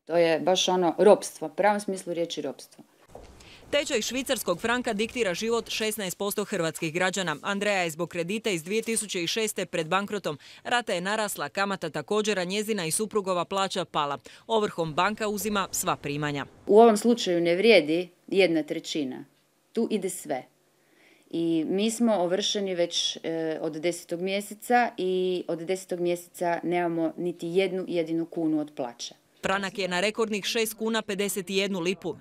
To je baš ono ropstvo, u pravom smislu riječi ropstvo. Tečaj švicarskog franka diktira život 16% hrvatskih građana. Andreja je zbog kredita iz 2006. pred bankrotom. Rata je narasla, kamata također, a njezina i suprugova plaća pala. Ovrhom banka uzima sva primanja. U ovom slučaju ne vrijedi 1/3. Tu ide sve. I mi smo ovršeni već od 10. mjeseca i od 10. mjeseca nemamo niti jednu jedinu kunu od plaće. Franak je na rekordnih 6 kuna 51 lipu.